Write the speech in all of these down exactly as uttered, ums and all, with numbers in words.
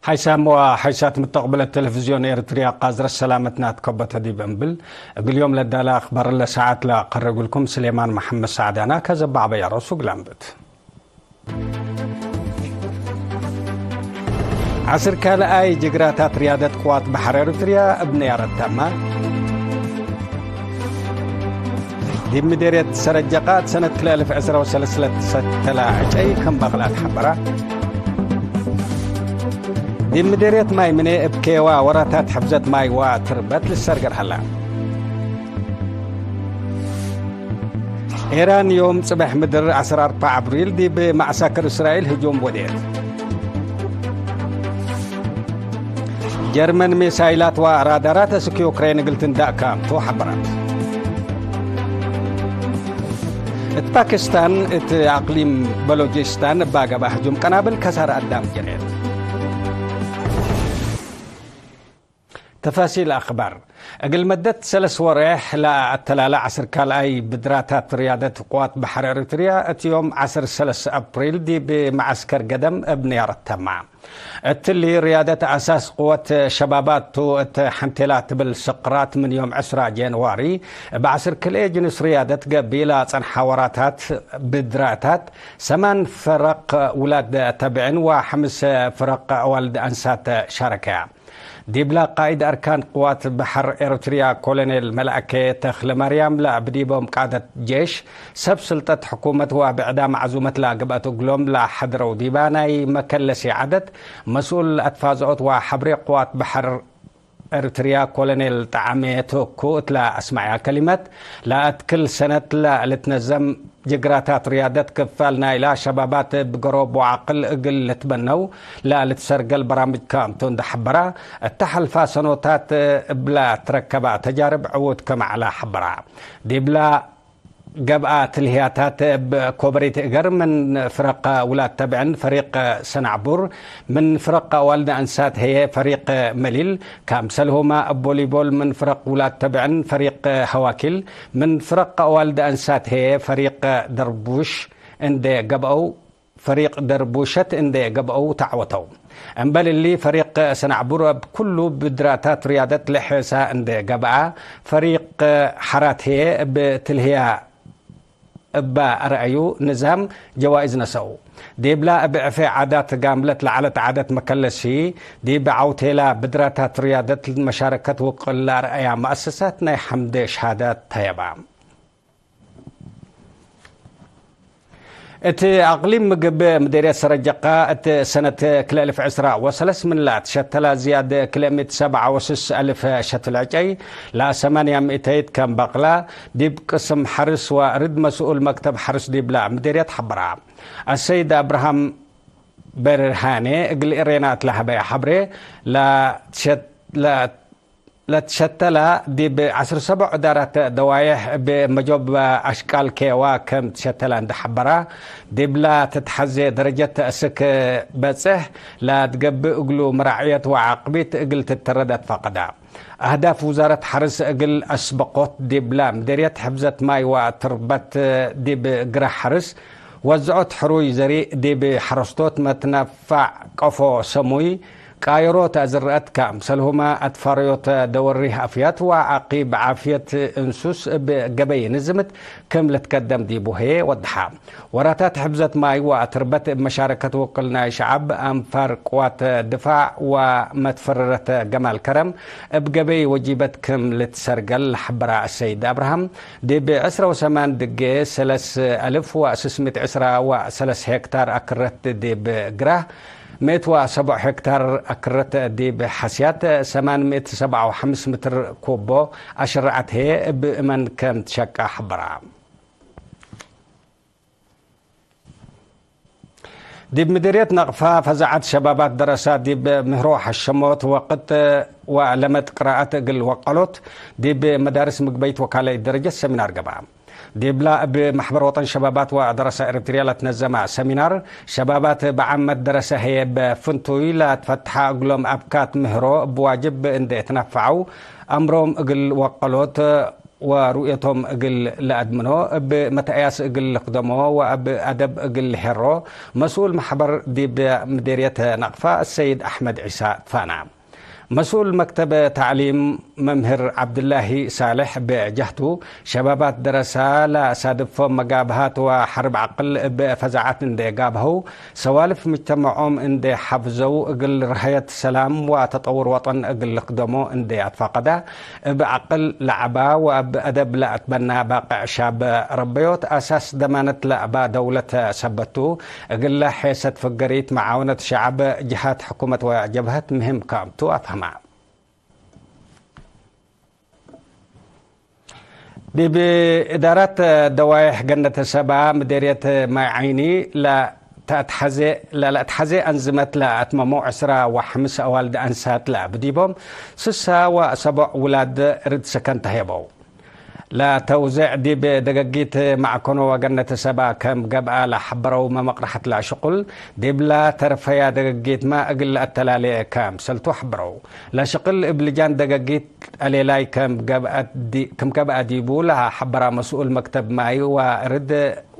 ሓይሳም ወሓይሳት ምተቅብለት ቴሌቪዝዮን ኤረትርያ ቃዝረት ሰላመትና ትከበተ ዲብ እንብል፣ እግል ዮም ለዳለ አክባር ለሰዓት ለአቀርብ እግልኩም ስሌማን መሐመድ ሳዕዳና። ከዘ በዐበያ ሮሱ እግል አንብት። ዐስር ካልኣይ ጅግራታት ርያደት ቅዋት በሐር ኤረትርያ እብ ነያረት ተመ። ዲብ ምዴርየት ሰረጀቃ እት ሰነት ክልኤ አልፍ ዕስራ ወሰለስ ለትሰተላ ዕጨይ ከም በቅላ ተሐበራ። ዲብ ምዴርየት ማይ ምኔ እብ ኬዋ ወራታት ሕፍዘት ማይ ወትርበት ልሰርገር ሀላ። ኤራን ዮም ጽበሕ ምድር ዐስር አርበዕ አብሪል ዲብ መዐሳክር እስራኤል ህጁም ወዴት። ጀርመን ሚሳይላት ወራዳራት እስክ ዩክሬን እግል ትንዳእ ካምቱ ሐበረት። እት ፓኪስታን እት አቅሊም በሎጂስታን እባ ገብአ ህጁም ቀናብል ከሳር አዳም ጀሬት። ተፋሲል አክባር። እግል መደት ሰለስ ወሬሕ ለአተላለ ዐስር ካልኣይ ብድራታት ርያደት ቅዋት በሐር ኤሪትርያ እት ዮም ዐስር ሰለስ አፕሪል ዲብ መዐስከር ገደም እብ ንያረት ተማ። እትሊ ርያደት አሳስ ቅወት ሸባባት ቱ እት ሐንቴላ ትብል ስቅራት ምን ዮም ዕስራ ጄንዋሪ እብ ዐስር ክልኤ ጅንስ ርያደት ገብእ ለአጸንሐ ወራታት ብድራታት ሰማን ፍረቅ ውላድ ተብዕን ወሐምስ ፍረቅ አዋልድ አንሳት ሻረከያ። ዲብላ ቃኢድ አርካን ቅዋት በሐር ኤረትርያ ኮሎኔል መልአከ ተክለማርያም ለእብ ዲቦም ቃደት ጄሽ፣ ሰብ ስልጠት ሕኩመት ወብዕዳም መዕዙመት ለገብአት እግሎም ለሐድረው ዲባ ናይ መከለሲ ዐደት መስኡል አትፋዝዖት ወሐብሬ ቅዋት በሐር ኤረትርያ ኮሎኔል ጠዓሜ ቶኩ እት ለአስመዐያ ከሊመት፣ ለአትክል ሰነት ለልትነዘም ጅግራታት ርያደት ክፋል ናይላ ሸባባት እብ ገሮብ ወዐቅል እግል ልትበነው ለልትሰርገል በራምጅ ካምቱ እንዴ ሐበራ፣ እተ ሐልፋ ሰኖታት እብላ ትረከባ ተጃርብ ዕዉት ክም ዐላ ሐበራ። ዲብላ ገብአ ትልህያታት እብ ኮበሪት እገር ምን ፍረቅ ውላድ ተብዕን ፈሪቅ ሰናዕቡር፣ ምን ፍረቅ አዋልድ አንሳት ህዬ ፈሪቅ መሊል፣ ካምሰልሁመ እብ ቮሊቦል ምን ፍረቅ ውላድ ተብዕን ፈሪቅ ሀዋኪል፣ ምን ፍረቅ አዋልድ አንሳት ህዬ ፈሪቅ ደርቡሽ እንዴ ገብአው፣ ፈሪቅ ደርቡሸት እንዴ ገብአው ተዐወተው። እምበል እሊ፣ ፈሪቅ ሰናዕቡር እብ ኩሉ ብድራታት ርያደት ለሐሳ እንዴ ገብአ፣ ፈሪቅ ሐራት ህዬ እብ ትልህያ እበ አርአዩ ንዛም ጀዋይዝ ነሰኡ። ዲብላ እብ ዕፌ ዓዳት ጋምለት ለዐለት ዓደት መከለሲ፣ ዲብ ዐውቴላ ብድራታት ርያደት መሻረከት ውቅል ለአርአያ መአሰሳት ናይ ሐምደ ሸሃዳት ተየባ። እት አቅሊም ምግብ ምዴርየት ሰረጀቃ እት ሰነት ክልኤ አልፍ ዕስራ ወሰለስ ምን ለአትሸተላ ዝያድ ክልኤ ምእት ሰብዓ ወስስ አልፍ ሸትል ዕጨይ ለሰማንያ ምእተይት ከም በቅላ፣ ዲብ ቅስም ሐርስ ወእርድ መስኡል መክተብ ሐርስ ዲብላ ምዴርየት ሐበራ። አሰይድ አብርሃም በርሃኔ እግል ኤሬና እት ለሀበየ ሐብሬ፣ ለትሸት-፣ ለ-፣ ለትሸተላ ዲብ ዐስር ሰቦዕ እዳራት ደዋዬሕ እብ መጆብ አሽቃል ኬዋ ከም ትሸተላ እንዴ ሐበራ፣ ዲብላ ትትሐዜ ደረጀት እስክ በጽሕ ለትገብእ እግሉ መራዕየት ወዓቅቢት እግል ትተረድ አትፋቀዳ። አህዳፍ ውዛረት ሐርስ እግል አስበቆት ዲብላ ምዴርየት ሕፍዘት ማይ ወትርበት ዲብ ግራህ ሐርስ ወዝዖት ሕሩይ ዘሪእ ዲብ ሐረስቶት መትነፋዕ ቀፎ ሰሙይ ቃየሮት አዝረአት ካምሰልሁመ አትፋረዮት ደወሪህ አፍያት ወዐቂብ ዓፍየት እንሱስ እብ ገበይ ንዝምት ክም ልትከደም ዲቡ ህዬ ወደሐ። ወራታት ሕፍዘት ማይ ወአትርበት እብ መሻረከት ውቅል ናይ ሸዐብ፣ አንፋር፣ ቅዋት ድፋዕ ወመትፈረረት ገማል ከረም እብ ገበይ ወጂበት ክም ልትሰርገል ለሐበራ አሰይድ አብርሃም፣ ዲብ ዕስራ ወሰማን ድጌ ሰለስ አልፍ ወስስ ምእት ዕስራ ወሰለስ ሄክታር አክረት ዲብ ግራህ፣ ምእት ወሰቦዕ ሄክታር አክረት ዲብ ሐስያት፣ ሰማን ምእት ሰብዓ ወሐምስ ምትር ኩቦ አሽረዐት ህዬ እብ እመን ከም ትሸቃ ሐበራ። ዲብ ምዲርየት ነቅፋ ፈዛዐት ሸባባት ደረሳ ዲብ ምህሮ ሐሸሞት ወቅጥ ወለመድ ቅራአት እግል ወቀሎት ዲብ መዳርስ ምግበይት ወካልአይት ደረጀት ሰሚናር ገብአ። ዲብላ እብ መሕበር ወጠን ሸባባት ወደረሳ ኤረትርያ ለትነዘመ ሰሚናር፣ ሸባባት በዓመት ደረሰ ህዬ እብ ፍንቱይ ለትፈትሐ እግሎም አብካት ምህሮ እብ ዋጅብ እንዴ ትነፈዐው አምሮም እግል ወቀሎት ወሩእየቶም እግል ለአድምኖ፣ እብ መትአያስ እግል ልክደሞ ወእብ አደብ እግል ልሄሮ፣ መስኡል መሕበር ዲብ ምዴርየት ነቅፋ አሰይድ አሕመድ ዒሳ ትፋና። መስኡል መክተብ ተዕሊም መምህር ዐብድላሂ ሳልሕ ብጀህቱ፣ ሸባባት ደረሳ ለሳድፎም መጋብሃት ወሐርብ ዐቅል እብ ፈዛዐት እንዴ ጋብሀው፣ ሰዋልፍ ምጅተመዖም እንዴ ሐፍዘው፣ እግል ረሀየት ሰላም ወተጠውር ወጠን እግል ልክደሞ እንዴ አትፋቀዳ፣ እብ ዐቅል ለዐባ ወእብ አደብ ለአትበና ባቅዕ ሻብ ረበዮት አሳስ ደማነት ለአባ ደውለት ሰበት ቱ፣ እግለ ሔሰት ፍገሪት መዓውነት ሸዐብ ጅሃት ሕኩመት ወጀብሀት ምህም ክም ቱ አፍሀማ። ዲብ እዳራት ደዋይሕ ገነት ሰባ ምዴርየት ማይ ዓይኒ ለተአትሐዜ፣ ለለአትሐዜ አንዝመት ለአትመመው ዕስራ ወሐምስ አዋልድ አንሳት ለአብ ዲቦም ስሳ ወሰቦዕ ውላድ ርድ ሰከን ተህየበው። ለተውዜዕ ዲብ ደገጊት ማዕከኖ ወገነት ሰባ ከም ገብአ ለሐበረው መመቅረሐት ለሽቁል፣ ዲብላ ተርፈያ ደገጊትመ እግል ለአተላሌ ከምሰልቱ ሐበረው። ለሽቅል እብ ልጃን ደገጊት አሌላይ ከም ገብአ ዲ-፣ ክም ገብአ ዲቡ ለሐበራ መስኡል መክተብ ማይ ወርድ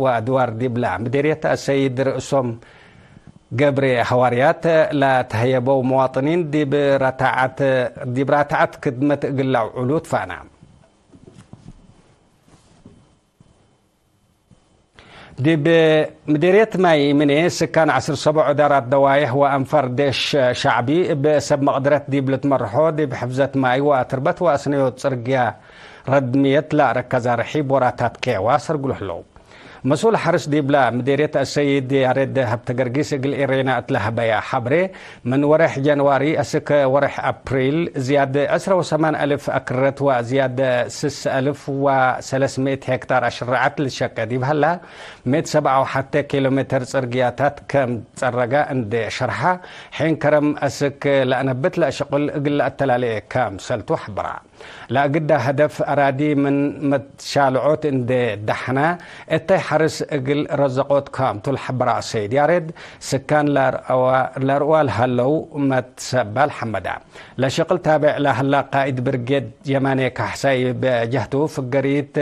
ወአድዋር ዲብላ ምዴርየት አሰይድ ርእሶም ገብሬ ሐዋርያት ለተህየበው መዋጥኒን ዲብ ራታዐት፣ ዲብ ራታዐት ክድመት እግል ለአውዕሉ ትፋና። ዲብ ምዴርየት ማይ ምኔ ስካን ዐስር ሰቦዕ እዳራት ደዋይሕ ወአንፋር ዴሽ ሸዕቢ እብ ሰብ መቅደረት ዲብ ልትመርሖ ዲብ ሕፍዘት ማይ ወአትርበት ወአስነዮት ጽርግያ ረድምየት ለአረከዛ ርሒብ ወራታት ኬዋ ሰርግሉ ህለው። መስኡል ሐርስ ዲብላ ምዴርየት አሰይድ ያሬድ ሀብተገርጊስ እግል ኤሬና እት ለሀበያ ሐብሬ፣ ምን ወሬሕ ጀንዋሪ አስክ ወሬሕ አፕሪል፣ ዝያድ ዕስረ ወሰማን አልፍ አክረት ወዝያድ ስስ አልፍ ወሰለስ ምእት ሄክታር አሽረዐት ልትሸቄ ዲብ ሀላ፣ ምእት ሰብዓ ወሐቴ ኪሎ ሜትር ጽርግያታት ከም ጸረገ እንዴ ሸርሐ፣ ሔን ከረም አስክ ለአነብት ለአሽቅል እግል ለአተላሌ ከምሰልቱ ሐብራ። ለአግዳ ሀደፍ አራዲ ምን መትሻልዖት እንዴ ደሐነ፣ እተይ ሐርስ እግል ረዘቆት ክም ቱ ለሐበረ አሰይድ ያሬድ፣ ስካን ለርአዋ-፣ ለርአዋ ለሀለው መትሰባል ሐመዳ። ለሽቅል ታቤዕ ለሀላ ቃእድ ብርጌድ የማኔ ካሕሳይ በጀህቱ፣ ፍገሪት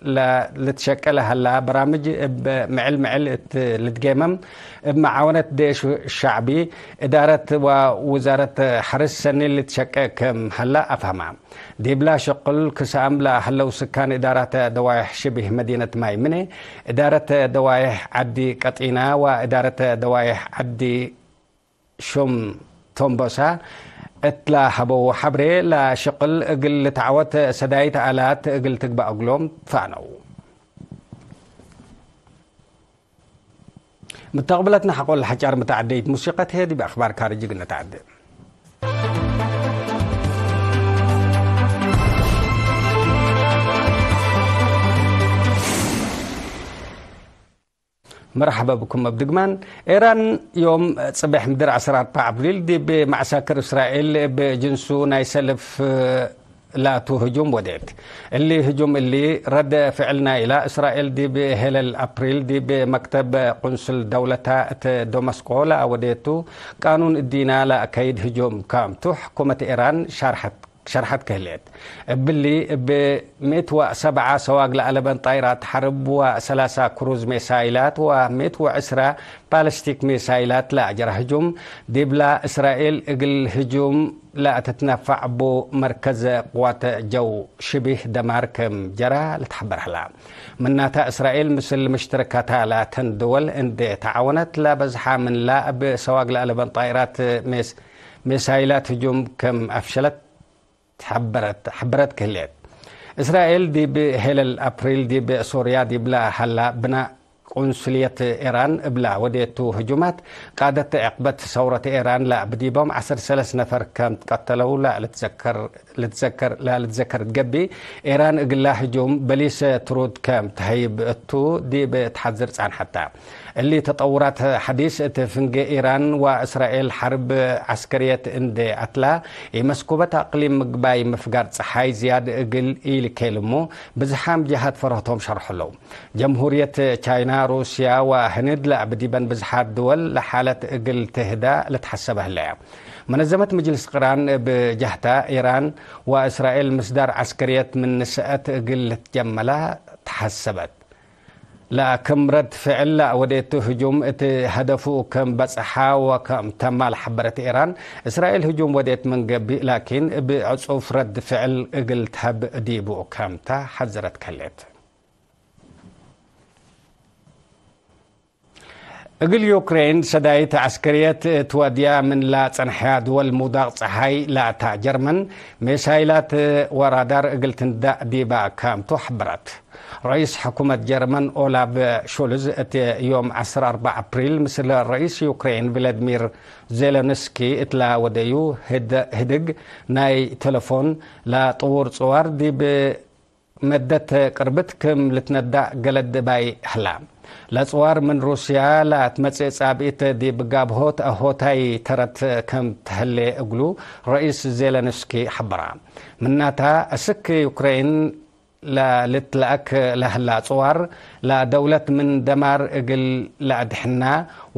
ለ-፣ ልትሸቄ ለሀላ በራምጅ እብ ምዕል ምዕል እት ልትጌመም፣ እብ መዓወነት ዴሽ ሸዕቢ፣ እዳረት ወውዛረት ሐርስ ሰኒ ልትሸቄ ክም ሀላ አፍሀማ። ዲብላ ሽቅል ክሳም ለሀለው ስካን እዳራተ ደዋይሕ ሽቢህ መዲነት ማይ ምኔ፣ እዳረተ ደዋይሕ ዐዲ ቀጢና ወእዳረተ ደዋይሕ ዐዲ ሹም ቶምቦሳ እት ለሀበው ሐብሬ፣ ለሽቅል እግል ልትዐወት ሰዳይት አላት እግል ትግበእ እግሎም ትፋነው። ምተቅብለትነ ሐቆ ለሐጫር መተዐደይት ሙሲቀት ህዬ ዲብ አክባር ካርጅ እግል ነተዐደ። መርሐበ ብኩም እብ ድግማን። ኤራን ዮም ጽቤሕ ምድር ዐስር አርበዕ አብሪል ዲብ መዐሳክር እስራኤል እብ ጅንሱ ናይ ሰልፍ ላቱ ህጁም ወዴት። እሊ ህጁም እሊ ረድ ፍዕል ናይላ እስራኤል ዲብ ሄለል አፕሪል ዲብ መክተብ ቁንስል ደውለታ እት ደመስቆ ለአወዴቱ ቃኑን እዲና ለአከይድ ህጁም ካምቱ ሕኩመት ኤራን ሻርሐት ሸርሐት ከህሌት። እብሊ እብ ምእት ወሰብዓ ሰዋግ ለአለበን ጣይራት ሐርብ ወሰላሳ ክሩዝ ሜሳይላት ወምእት ወዕስራ ባለስቲክ ሜሳይላት ለአጀረ ህጁም፣ ዲብላ እስራኤል እግል ህጁም ለአትትነፋዕ እቡ መርከዝ ቅዋት ጀው ሽቢህ ደማር ክም ጀራ ልትሐበር ሀላ። ምናተ እስራኤል ምስል ምሽትረካታ ላተን ድወል እንዴ ተዓወነት ለበዝሓ ምንላ እብ ሰዋግ ለአለበን ጣይራት ሜስ-፣ ሜሳይላት ህጁም ክም አፍሸለት ሐበረት፣ ሐበረት ክህሌት። እስራኤል ዲብ ሄለል አፕሪል ዲብ ሶርያ ዲብላ ሀላ ብና ቁንስልየት ኤራን እብላ ወዴቱ ህጁማት፣ ቃደት ዕቅበት ሰውረት ኤራን ለአብ ዲቦም ዐስር ሰለስ ነፈር ከም ትቀተለው ለልትዘከር፣ ልትዘከር፣ ለልትዘከር እት ገብእ፣ ኤራን እግላ ህጁም በሊስ ትሩድ ከም ተሀይብ እቱ ዲብ ተሐዝር ጻንሐታ። እሊ ተጠውራት ሐዲስ እት ፍንጌ ኢራን ወእስራኤል ሐርብ ዐስከርየት እንዴ አትላ፣ ኢመስኩበት አቅሊም ምግባይ ምፍጋር ጸሓይ ዝያድ እግል ኢልኬልሙ፣ ብዝሓም ጀሃት ፈርህቶም ሸርሐለው። ጀምሁርየት ቻይና ሩስያ ወህንድ ለአብ ዲበን ብዝሓት ድወል ለሓለት እግል ትህዳ ልትሐሰበ ህለ። መነዘመት ምጅልስ ቅራን እብ ጀህታ፣ ኢራን ወእስራኤል ምስዳር ዐስከርየት ምን ንሰአት እግል ልትጀመላ ተሐሰበት። ለክም ረድ ፍዕል ለወዴቱ ህጁም እት ሀደፉ ክም በጽሐ ወክም ተማ ለሐበረት ኢራን፣ እስራኤል ህጁም ወዴት ምን ገብእ ላኪን እብ ዕጹፍ ረድ ፍዕል እግል ተሀብ ዲቡ ክምተ ሐዘረት ከሌት። እግል ዩክሬን ሰዳይት ዐስከርየት እት ወድያ ምን ለጸንሐያ ድወል ሙዳቅ ጸሓይ ላታ ጀርመን፣ ሜሳይላት ወራዳር እግል ትንዳእ ዲባ ክምቱ ሐበረት። ረኢስ ሕኩመት ጀርመን ኦላፍ ሾልዝ እት ዮም ዐስር አርበዕ አፕሪል ምስል ረኢስ ዩክሬን ቭላድሚር ዜለንስኪ እትላ ወደዩ ህድ-፣ ህድግ ናይ ተለፎን ለጥዉር ጽዋር ዲብ መደት ቅርብት ክም ልትነዳእ ገለድ እባይ ህላ። ለጽዋር ምን ሩስያ ለአትመጽእ ጻብኢት ዲብ ጋብሆት አሆታይ ተረት ክም ተህሌ እግሉ ረኢስ ዜለንስኪ ሐበራ። ምናታ፣ እስክ ዩክሬን ለልትለአክ ለህላ ጽዋር፣ ለደውለት ምን ደማር እግል ለአድሕና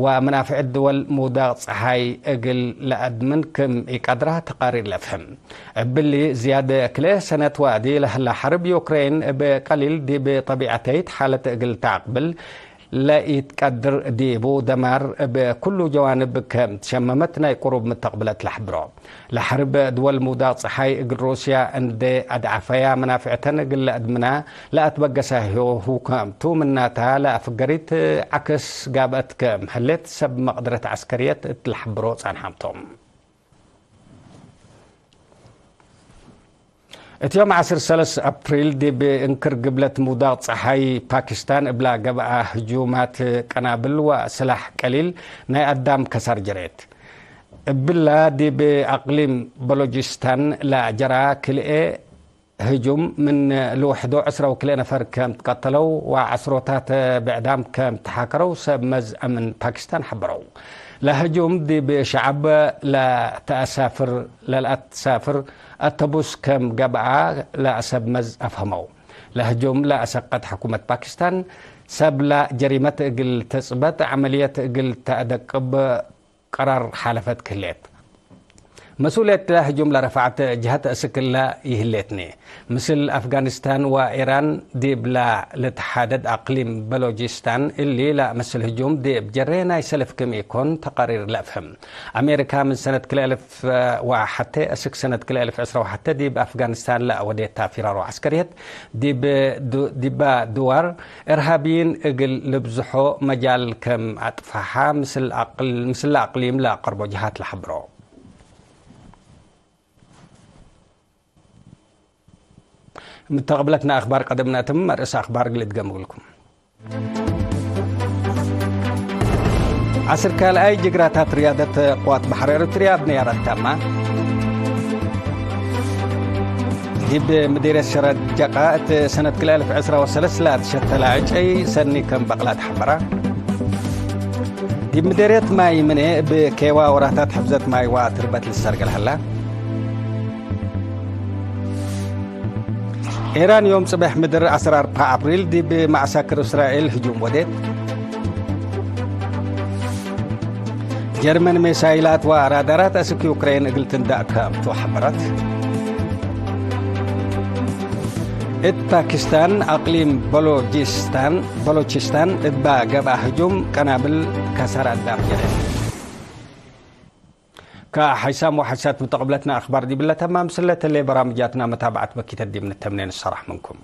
ወመናፍዕት ድወል ሙዳቅ ጸሓይ እግል ለአድምን ክም ኢቀድራ ተቃሪር ለፍህም። እብሊ ዝያድ ክልኤ ሰነት ወአዲ ለህላ ሐርብ ዩክሬን እብ ቀሊል ዲብ ጠቢዐተይት ሓለት እግል ተአቅብል ለኢትቀድር ዲቡ፣ ደማር እብ ኩሉ ጀዋንብ ከም ትሸመመት ናይ ቅሩብ ምተቅብለት ለሐብሮ። ለሐርብ ድወል ሙዳቅ ጸሓይ እግል ሩስያ እንዴ አድዓፈያ፣ መናፍዕተን እግል ለአድምና ለአትበገሰ ህዩ ክምቱ፣ ምናታ ለአፍገሪት ዐክስ ጋብአት ክም ህሌት ሰብ መቅድረት ዐስከርየት እት ለሐብሮ ጸንሐም ቶም። እት ዮም ዐስር ሰለስ አፕሪል ዲብ እንክር ግብለት ሙዳቅ ጸሓይ ፓኪስታን እብላ ገብአ ህጁማት ቀናብል ወስላሕ ቀሊል ናይ አዳም ከሳር ጀሬት። እብላ ዲብ አቅሊም በሎጂስታን ለጀራ ክልኤ ህጁም ምን ልውሕዶ ዕስራ ወክልኤ ነፈር ከም ትቀተለው ወዐስሮታት ብዕዳም ከም ተሓከረው ሰብ መዝ አምን ፓኪስታን ሐበረው። ለህጁም ዲብ ሸዐብ ለተአሳፍር፣ ለልአትሳፍር አተቡስ ከም ገብአ ለሰብ መዝ አፍሀመው። ለህጁም ለአሰቀት ሕኩመት ፓኪስታን፣ ሰብለ ጀሪመት እግል ተጽበጥ፣ ዐመልየት እግል ተአደቅብ ቀራር ሓለፈት ክህሌት። መስኡልየት ለህጁም ለረፍዐት ጀሀት እስክ እለ ይህሌትኒ። ምስል አፍጋኒስታን ወኢራን ዲብላ ልትሓደድ አቅሊም በሎጂስታን እሊ ለአመስል ህጁም ዲብ ጀሬ ናይ ሰልፍ ክም ኢኮን ተቃሪር ለአፍህም። አሜሪካ ምን ሰነት ክልኤ አልፍ ወሐቴ እስክ ሰነት ክልኤ አልፍ ዕስራ ወሐቴ ዲብ አፍጋኒስታን ለአወዴታ ፊራሮ ዐስከርየት ዲብ ዱ-፣ ዲባ ድዋር እርሃብይን እግል ልብዝሖ መጃል ከም አጥፈሓ ምስል አቅል-፣ ምስል አቅሊም ለአቀርቦ ጀሃት ለሐብሮ። ምተቅብለትና አክባር ቀደም ነአትም፣ መርእስ አክባር እግል እድገም እግልኩም። ዐስር ካልኣይ ጅግራታት ርያደት ቅዋት በሐር ኤረትርያ እብ ነያረት ታማ። ዲብ ምዲርየት ሸረጀቃ እት ሰነት ክልኤ አልፍ ዕስራ ወሰለስ ለአትሸተለ ዕጨይ ሰኒ ከም በቅላ ተሐበራ። ዲብ ምዲርየት ማይ ምኔ እብ ኬዋ ወራታት ሕፍዘት ማይ ወአትርበት ልሰርገል ሀላ። ኢራን ዮም ጽበሕ ምድር ዐስር አርበዕ አፕሪል ዲብ መዐሳክር እስራኤል ህጁም ወዴት። ጀርመን ሜሳይላት ወራዳራት አስክ ዩክሬን እግል ትንዳእ ከምቱ ሐበረት። እት ፓኪስታን አቅሊም በሎጂስታን፣ በሎቺስታን እባ ገብአ ህጁም ቀናብል ከሳር አዳም ጀረ። ከሐይሳም ወሐይሳት ምተቅብለትና አክባር ዲብለ ተማም ስለተሌ በራምጃትና መታብዐት በኪተት ዲብ ንተምኔ ንሰራሕ ምንኩም።